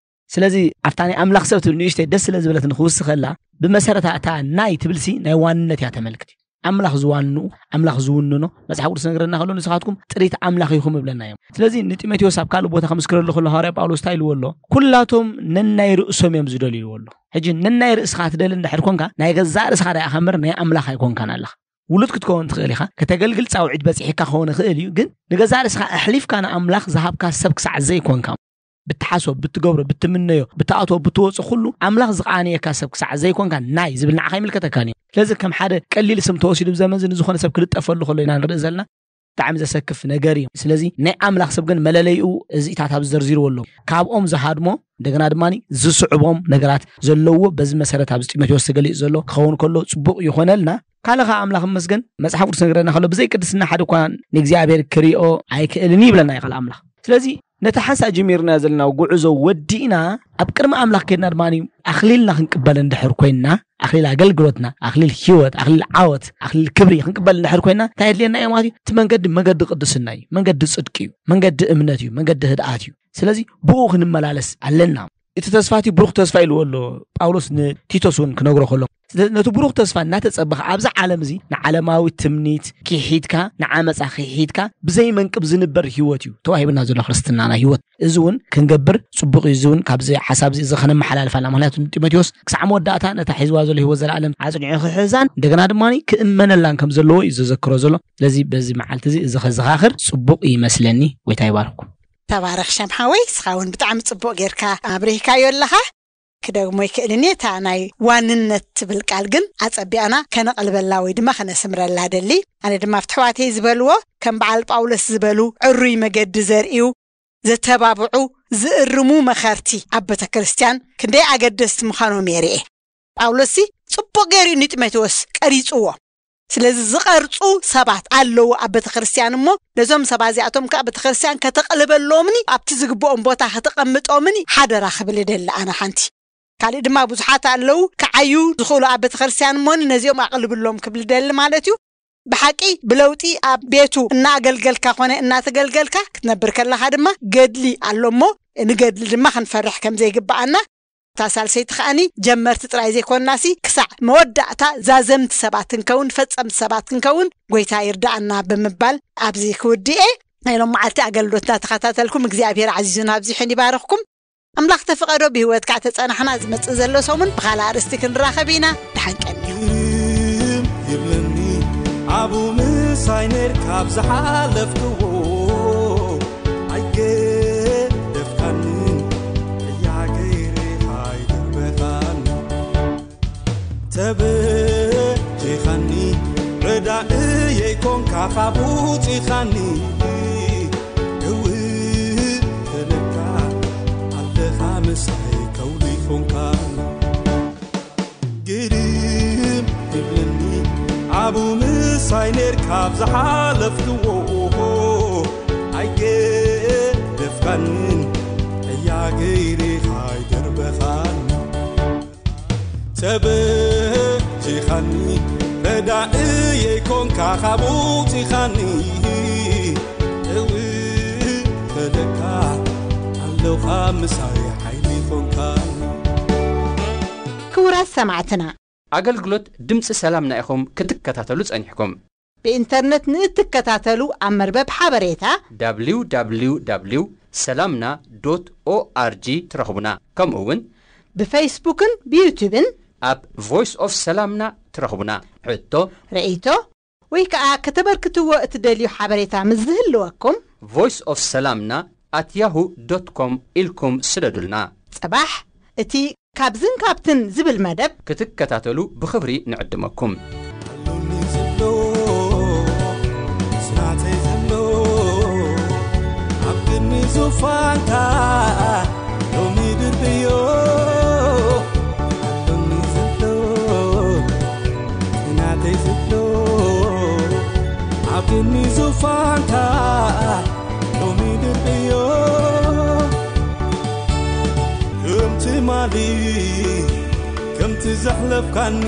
ስለዚ ኣብታ ናይ ኣምላኽ ሰብ ትብል ንእሽተይ ደስ ስለ ዝበለትኒ ክውስኸላ፣ ብመሰረታ እታ ናይ ትብልሲ ናይ ዋንነት እያ ተመልክት። ኣምላኽ ዝዋንኡ፣ ኣምላኽ ዝውንኖ መጽሓፍ ቅዱስ ነገረና ከሎ ንስኻትኩም ጥሪት ኣምላኽ ኢኹም እብለና እዮም። ስለዚ ንጢሞቴዎስ ኣብ ካልእ ቦታ ከምስክረሉ ከሎ ሃዋርያ ጳውሎስ እንታይ ኢልዎ ኣሎ? ኩላቶም ነናይ ርእሶም እዮም ዝደልዩ ኢልዎ ኣሎ። ሕጂ ነናይ ርእስኻ ትደሊ እንድሕር ኮንካ ናይ ገዛእ ርእስኻ ዳኢኻ እምበር ናይ ኣምላኽ ኣይኮንካን ኣለኻ። ውሉድ ክትከውን ትኽእል ኢኻ፣ ከተገልግል ጻውዒት በጺሕካ ክኸውን ይኽእል እዩ፣ ግን ንገዛእ ርእስኻ ኣሕሊፍካ ንኣምላኽ ዝሃብካ ሰብ ክሳዕ ዘይኮንካ። ብትሓስቦ፣ ብትገብሮ፣ ብትምነዮ፣ ብትኣትዎ፣ ብትወፅኦ ኩሉ ኣምላኽ ዝቐኣነየካ ሰብ ክሳዕ ዘይኮንካ ናይ ዝብል ንዓኻ ኣይምልከተካን እዩ። ስለዚ ከም ሓደ ቀሊል ስም ተወሲዱ ብዘመን እዚ ንዝኾነ ሰብ ክልጠፈሉ ከሎ ኢና ንርኢ ዘለና። ብጣዕሚ ዘሰክፍ ነገር እዩ። ስለዚ ናይ ኣምላኽ ሰብ ግን መለለይኡ እዚታት ኣብዚ ዘርዚርዎ ኣሎ። ካብኦም ዝሃድሞ እንደገና ድማ ዝስዕቦም ነገራት ዘለዎ በዚ መሰረት ኣብዚ ጢሞቴዎስ ተገሊጹ ዘሎ ክኸውን ከሎ ጽቡቕ ይኾነልና። ካልእ ኸዓ ኣምላኽ ይመስገን መጽሓፍ ቅዱስ ነገረና ከሎ ብዘይ ቅድስና ሓደ እኳ ንእግዚኣብሔር ክሪኦ ኣይክእልን እዩ ይብለና እዩ ቃል ኣምላኽ። ስለዚ ነቲ ሓንሳእ ጀሚርና ዘለና ጉዕዞ ወዲእና ኣብ ቅድሚ ኣምላኽ ከድና ድማ ኣኽሊልና ክንቅበል እንድሕር ኮይንና ኣኽሊል ኣገልግሎትና ኣኽሊል ህይወት ኣኽሊል ዓወት ኣኽሊል ክብሪ ክንቅበል እንድሕር ኮይንና እንታይ የድልየና እዩ ማለት እዩ? እቲ መንገዲ መንገዲ ቅድስና እዩ፣ መንገዲ ጽድቂ እዩ፣ መንገዲ እምነት እዩ፣ መንገዲ ህድኣት እዩ። ስለዚ ብኡ ክንመላለስ ኣለና። እቲ ተስፋ እቲ ብሩኽ ተስፋ ኢልዎ ኣሎ ጳውሎስ ንቲቶስ እውን ክነግሮ ከሎ። ስለዚ ነቲ ብሩኽ ተስፋ እናተጸበኸ ኣብዚ ዓለም እዚ ንዓለማዊ ትምኒት ክሒድካ ንዓመጻ ክሒድካ ብዘይ መንቅብ ዝንበር ህይወት እዩ ተዋሂብና ዘሎ ክርስትናና ህይወት። እዚ እውን ክንገብር ጽቡቕ እዩ። እዚ እውን ካብዚ ሓሳብ እዚ ከነመሓላልፍ ኣለና። ምክንያቱ ጢሞቴዎስ ክሳዕ መወዳእታ ነታ ሒዝዋ ዘሎ ህይወት ዘለኣለም ኣጽኒዑ ክሕዛን እንደገና ድማ ክእመነላን ከም ዘለዎ እዩ ዘዘክሮ ዘሎ። ስለዚ በዚ መዓልቲ እዚ እዚ ከዘኻኽር ጽቡቕ ይመስለኒ። ጎይታ ይባርኩም። ተባረኽ ሸም ሓወይ፣ እስኻ እውን ብጣዕሚ ጽቡቕ ጌርካ ኣብሪህካዮ ኣለኻ። ክደግሞ ይክእልን እየ። እታ ናይ ዋንነት ትብል ቃል ግን ኣጸቢቕና ከነቕልበላ ወይ ድማ ከነስምረላ ደሊ። ኣነ ድማ ኣብቲ ኣሕዋተይ ዝበልዎ ከም በዓል ጳውሎስ ዝበሉ ዕሩይ መገዲ ዘርእዩ፣ ዘተባብዑ፣ ዝእርሙ መኸርቲ ኣብ ቤተ ክርስቲያን ክንደይ ኣገደስቲ ምዃኖም የርኢ። ጳውሎስሲ ጽቡቕ ገይሩ እዩ ንጢሞቴዎስ ቀሪጽዎ። ስለዚ ዝቐርጹ ሰባት ኣለዉ ኣብ ቤተ ክርስቲያን እሞ ነዞም ሰባት እዚኣቶም ከኣ ቤተ ክርስቲያን ከተቕልበሎምኒ ኣብቲ ዝግብኦም ቦታ ከተቐምጦምኒ ሓደራ ክብል እደሊ ኣነ ሓንቲ። ካልእ ድማ ብዙሓት ኣለዉ ክዓዩ ዝኽእሉ ኣብ ቤተ ክርስቲያን እሞኒ ነዚኦም ኣቕልብሎም ክብል እደሊ ማለት እዩ። ብሓቂ ብለውጢ ኣብ ቤቱ እናኣገልገልካ ኮነ እናተገልገልካ ክትነብር ከለኻ ድማ ገድሊ ኣሎ እሞ ንገድሊ ድማ ክንፈርሕ ከም ዘይግብኣና እታ ሳልሰይቲ ከኣኒ ጀመርቲ ጥራይ ዘይኮንናሲ ክሳዕ መወዳእታ ዛዘምቲ ሰባት ክንከውን ፈጸምቲ ሰባት ክንከውን ጎይታ ይርዳኣና ብምባል ኣብዚ ክውድእ እየ። ናይ ሎም መዓልቲ ኣገልግሎትና ተኸታተልኩም እግዚኣብሔር ዓዚዙን ኣብዚሑን ይባርኽኩም። ኣምላኽ ተፈቐዶ ብህይወት ከዓ ተጸናሕና ዝመጽእ ዘሎ ሰሙን ብኻልእ ኣርእስቲ ክንራኸብ ኢና። ደሓን ቀንዩ። ግርም ይብለኒ ኣብኡ ምሳይ ነርካ ኣብ ዝሓለፍክዎ ኣይገደፍካንን እያ ገይርኻ ኣይደርበኻን ተበጂኻኒ ረዳእየይ ኮንካ ካብ ውፂኻኒ እው ተለካ ኣለኻ ምሳይ ከውሊ ኮንካኒ ግርም ይብለኒ ኣብኡ ምሳይ ነርካ ኣብ ዝሓለፍክዎ ኣይገደፍካንን እያ ገይርኻ ኣይደርበኻን ተበጂኻኒ ረዳእየይ ኮንካ ካብ ውፂኻኒ እው ተለካ ኣለኻ ምሳይ ሓይሊ ኮንካኒ ክቡራት ሰማዕትና፣ ኣገልግሎት ድምፂ ሰላምና ኢኹም ክትከታተሉ ጸኒሕኩም። ብኢንተርነት ንእትከታተሉ ኣብ መርበብ ሓበሬታ www ሰላምና ዶት ኦኣርጂ ትረኽቡና። ከምኡ እውን ብፌስቡክን ብዩቱብን ኣብ ቮይስ ኦፍ ሰላምና ትረኽቡና። ሕቶ፣ ርእይቶ ወይ ከኣ ከተበርክትዎ እትደልዩ ሓበሬታ ምስ ዝህልወኩም voice of ሰላምና at yahoo dot com ኢልኩም ስደዱልና። ጽባሕ እቲ ካብዝን ካብትን ዝብል መደብ ክትከታተሉ ብኽብሪ ንዕድመኩም። ኣሎኒ ዝብሎ ስራተይ ዘሎ ኣብ ቅድሚ ዙፋንካ ሎሚ ድርብዮ ኣሎኒ ዝብሎ ናተይ ዝብሎ ኣብ ቅድሚ ዙፋንካ ሎሚ ድርብዮ ከም ትማሊ ከምቲ ዘሕለፍካኒ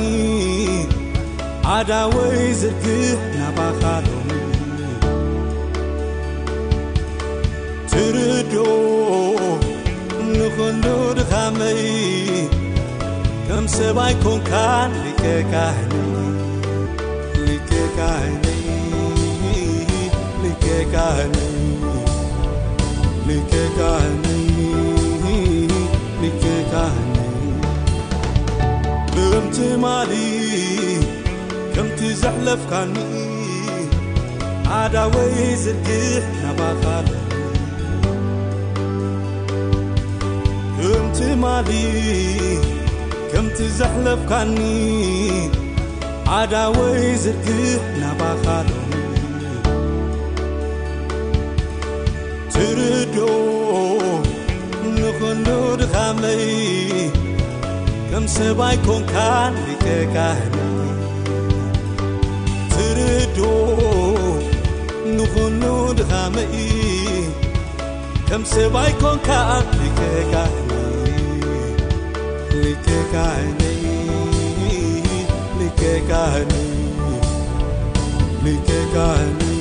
ኣዳወይ ዝርግሕ ናባኻ ሎሚ ትርዶ ንኹሉ ድኻመይ ከም ሰብኣይ ኮንካን ሊቀ ካህነይ ሊቀ ካህነይ ሊቀ ካህነይ ሊቀ ካህነይ ሊቀ ካህነይ ከም ትማሊ ከምቲ ዘሕለፍካኒ ኣዳወይ ዝርግሕ ናባኻ ማሊ ከምቲ ዘሕለፍካኒ ዓዳወይ ዝርግሕ ናባኻ ሎሚ ትርዶ ንኹሉ ድኻመይ ከም ሰብኣይ ኮንካን ሊቀ ካህነይ ትርዶ ንኹሉ ድኻመይ ከም ሰብኣይ ኮንካን ሊቀ ካህነይ ሊቀ ካህነይ ሊቀ ካህነይ ሊቀ ካህነይ